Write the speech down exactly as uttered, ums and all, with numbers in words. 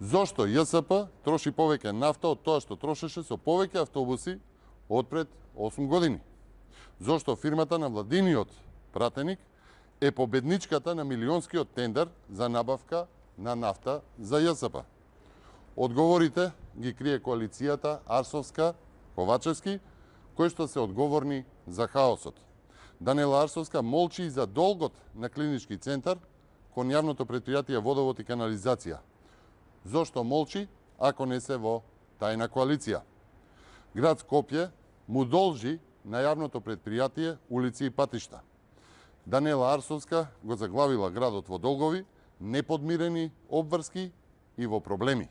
Зошто ЈСП троши повеќе нафта од тоа што трошеше со повеќе автобуси од пред осум години? Зошто фирмата на владиниот пратеник е победничката на милионскиот тендер за набавка на нафта за ЈСП? Одговорите ги крие коалицијата Арсовска-Ковачевски, кои што се одговорни за хаосот. Даниела Арсовска молчи и за долгот на клинички центар кон јавното претпријатие Водовод и канализација. Зошто молчи ако не се во тајна коалиција? Град Скопје му должи на јавното претпријатие улици и патишта. Даниела Арсовска го заглавила градот во долгови, неподмирени обврски и во проблеми.